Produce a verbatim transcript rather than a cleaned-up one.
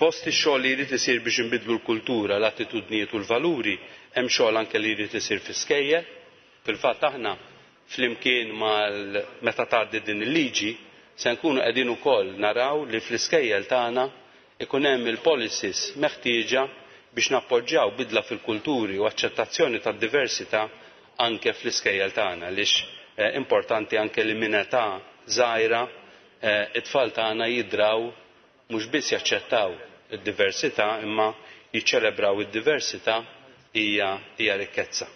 Fost ix-xogħol li jrid isir biex inbiddlu l-kultura, l-attitudnijiet u l-valuri, hemm xogħol anke li jrid isir fl-iskejjel. Fil-fatt aħna flimkien mal meta tgħaddi din il-liġi se nkunu qegħdin ukoll naraw li fl-iskejjel tagħna ikun hemm il-policies meħtieġa biex nappoġġjaw bidla fil-kulturi u aċċettazzjoni tad-diversità anke fl-iskejjel tagħna, għaliex importanti anke li minn età żgħira it-tfal tagħna jidraw mhux biss jaċċettaw id-diversità imma jiċċelebraw id-diversità hija hija rikkezza.